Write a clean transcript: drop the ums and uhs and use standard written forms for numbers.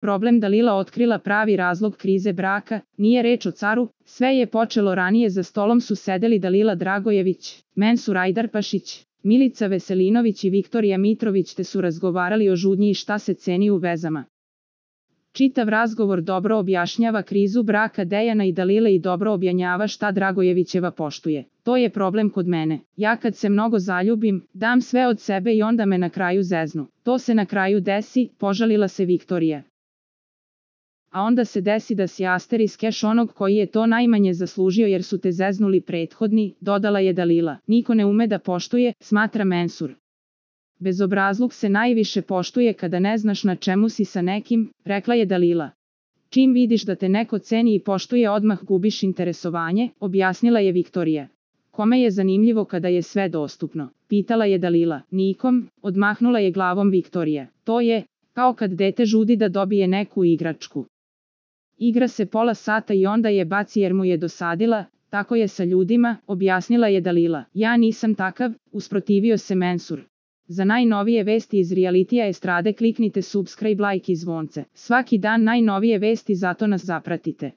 Problem Dalila otkrila pravi razlog krize braka, nije reč o caru, sve je počelo ranije, za stolom su sedeli Dalila Dragojević, Mensur Ajdarpašić, Milica Veselinović i Viktorija Mitrović, te su razgovarali o žudnji i šta se ceni u vezama. Čitav razgovor dobro objašnjava krizu braka Dejana i Dalile i dobro objašnjava šta Dragojevićeva poštuje. To je problem kod mene. Ja kad se mnogo zaljubim, dam sve od sebe i onda me na kraju zeznu. To se na kraju desi, požalila se Viktorija. A onda se desi da si asteriskeš onog koji je to najmanje zaslužio jer su te zeznuli prethodni, dodala je Dalila. Niko ne ume da poštuje, smatra Mensur. Bezobrazluk se najviše poštuje kada ne znaš na čemu si sa nekim, rekla je Dalila. Čim vidiš da te neko ceni i poštuje, odmah gubiš interesovanje, objasnila je Viktorija. Kome je zanimljivo kada je sve dostupno? Pitala je Dalila. Nikom, odmahnula je glavom Viktorija. To je kao kad dete žudi da dobije neku igračku. Igra se pola sata i onda je baci jer mu je dosadila, tako je sa ljudima, objasnila je Dalila. Ja nisam takav, usprotivio se Mensur. Za najnovije vesti iz realitija estrade kliknite subscribe, like i zvonce. Svaki dan najnovije vesti, zato nas zapratite.